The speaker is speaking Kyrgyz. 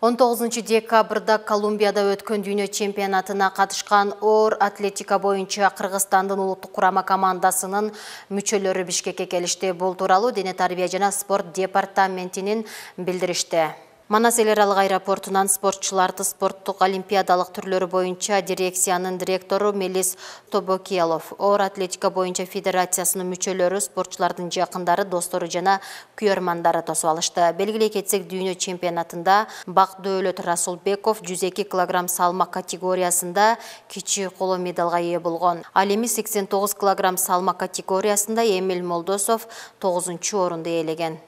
19-декабрда Колумбияда өткөн дүйнө чемпионатына катышкан оор атлетика боюнча Кыргызстандын улуттук курама командасынын мүчөлөрү Бишкекке келишти. Бул тууралуу Дене тарбия жана спорт департаментинин билдиришти. Манас эл аралык аэропортунан спортчуларды спорттук олимпиадалык түрлөрү боюнча дирекциянын директору Мелис Тобокиялов, оор атлетика боюнча федерациясынын мүчөлөрү, спортчулардын жакындары, достору жана күйөрмандары тосуп алышты. Белгилей кетсек, дүйнө чемпионатында Бакдөөлөт Расулбеков 102 кг салмак категориясында кичи коло медалга ээ болгон. Ал эми 89 кг салмак категориясында Эмиль Молдосов 9-орунду ээлеген.